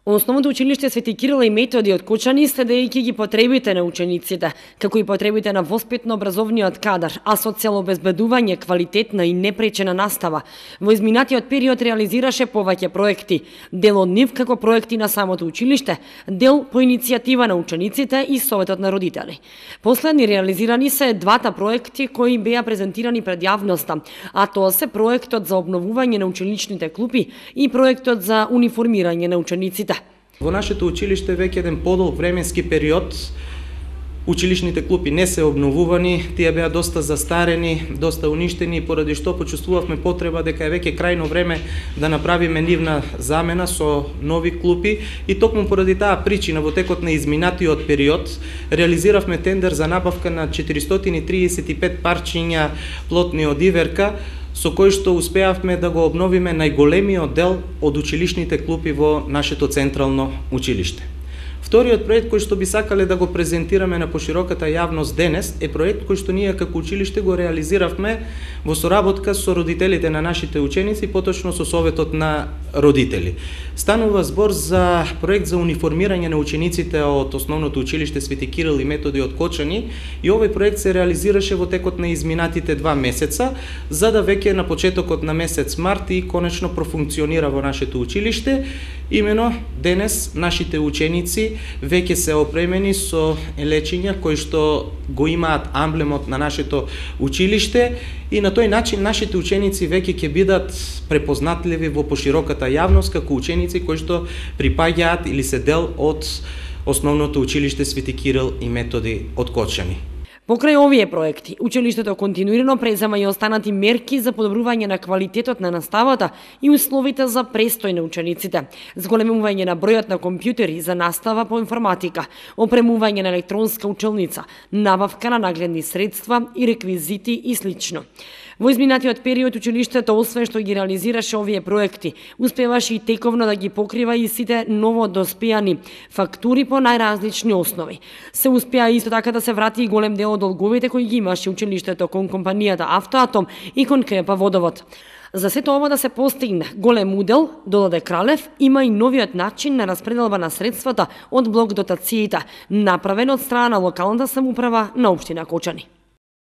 Основното училиште Свети Кирил и Методи од Кочани, следејќи ги потребите на учениците, како и потребите на воспитно-образовниот кадар, а со цел обезбедување квалитетна и непречена настава, во изминатиот период реализираше повеќе проекти, дел од нив како проекти на самото училиште, дел по иницијатива на учениците и Советот на родители. Последни реализирани се двата проекти кои беа презентирани пред јавноста, а тоа се проектот за обновување на ученичните клупи и проектот за униформирање на учениците. Во нашето училиште веќе еден подолг временски период училишните клупи не се обновувани, тие беа доста застарени, доста уништени, поради што почувствувавме потреба дека е веќе крајно време да направиме нивна замена со нови клупи и токму поради таа причина во текот на изминатиот период реализиравме тендер за набавка на 435 парчиња плотни од иверка, со кој што успеавме да го обновиме најголемиот дел од училишните клупи во нашето централно училиште. Вториот проект кој што би сакале да го презентираме на пошироката јавност денес е проект кој што ние како училиште го реализиравме во соработка со родителите на нашите ученици, поточно со Советот на родители. Станува збор за проект за униформирање на учениците од Основното училиште Свети Кирил и Методи од Кочани и овој проект се реализираше во текот на изминатите 2 месеца, за да веќе на почетокот на месец март и конечно профункционира во нашето училиште. Имено денес нашите ученици веќе се опремени со лечиња кои што го имаат амблемот на нашето училиште и на тој начин нашите ученици веќе ќе бидат препознатливи во пошироката јавност како ученици кои што припаѓаат или се дел од Основното училиште Свети Кирил и Методи од Кочани. Покрај овие проекти, училиштето континуирано презема и останати мерки за подобрување на квалитетот на наставата и условите за престој на учениците, зголемување на бројот на компјутери за настава по информатика, опремување на електронска училница, набавка на нагледни средства и реквизити и слично. Во изминатиот период училиштето, освен што ги реализираше овие проекти, успеваше и тековно да ги покрива и сите ново доспеани фактури по најразлични основи. Се успеа исто така да се врати и голем дел од долговите кои ги имаше училиштето кон компанијата Автоатом и кон КЕП Водовод. За сето ова да се постигне голем удел, додаде Кралев, има и новиот начин на распределба на средствата од блок дотациите, направен од страна на локалната самоуправа на општина Кочани.